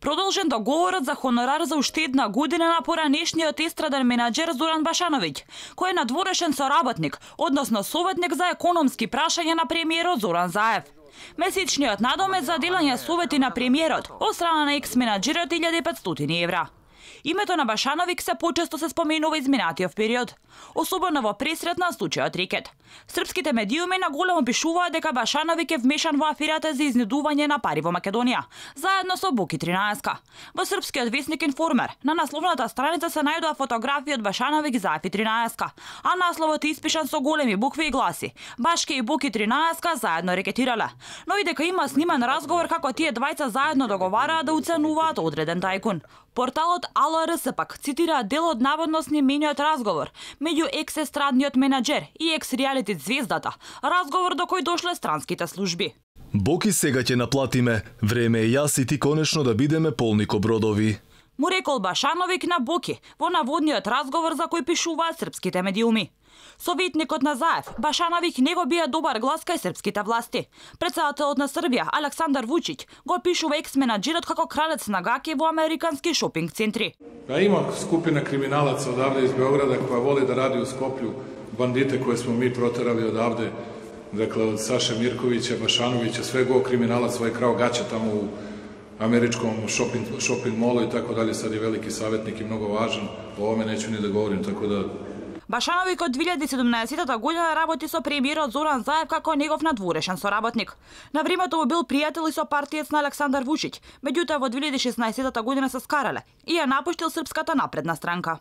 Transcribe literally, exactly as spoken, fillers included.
продолжен договорот за хонорар за уште една година на поранешниот естраден менаџер Зоран Башановиќ, кој е надворешен соработник, односно советник за економски прашања на премиерот Зоран Заев. Месечниот надом е за делање совети на премиерот од страна на екс-менаџерот илјада и петстотини евра. Името на Башановиќ се почесто се споменува изминатиот период, особено во пресрет на случајот Рекет. Српските медиуми наголемо пишуваат дека Башановиќ е вмешан во аферата за изнедување на пари во Македонија, заедно со Боки тринаесет. Во српскиот весник Информер на насловната страница се најдоа фотографии од Башановиќ, Заев и тринаесет, а насловот е испишан со големи букви и гласи: Башке и Боки тринаесет заедно рекетирале, но и дека има снимен разговор како тие двајца заедно договараат да уценуваат одреден тајкун. Порталот Ало ер ес пак цитира дел од наводно снимениот разговор меѓу екс-естрадниот менаџер и екс-реалити звездата, разговор до кој дошле странските служби. Боки, сега ќе наплатиме, време е јас и ти конечно да бидеме полни ко бродови, му рекол Башановиќ на Боки во наводниот разговор за кој пишуваат српските медиуми. Советникот на Заев, Башановиќ не го бија добар глас кај српските власти. Претседателот на Србија, Александар Вучиќ, го пишува екс-менаџерот како кралец на гаки во американски шопинг центри. А има скупина криминалаца одавде из Beograda која воли да ради у Скопју, бандите кои смо ми протерали одавде, dakle од Саше Мирковиќа, Башановиќа, све го криминалаc свој крао гаќа таму у америчком шопинг, шопинг молу и така дали, сад е велики саветник и многу важен, о овome неću ни да говорим, така да. Башановиќ од две илјади и седумнаесета година работи со премиерот Зоран Заев како негов надворешен соработник. На времето му бил пријател и со партиец на Александар Вучиќ, меѓутоа во две илјади и шеснаесета година се скарале и ја напуштил Српската напредна странка.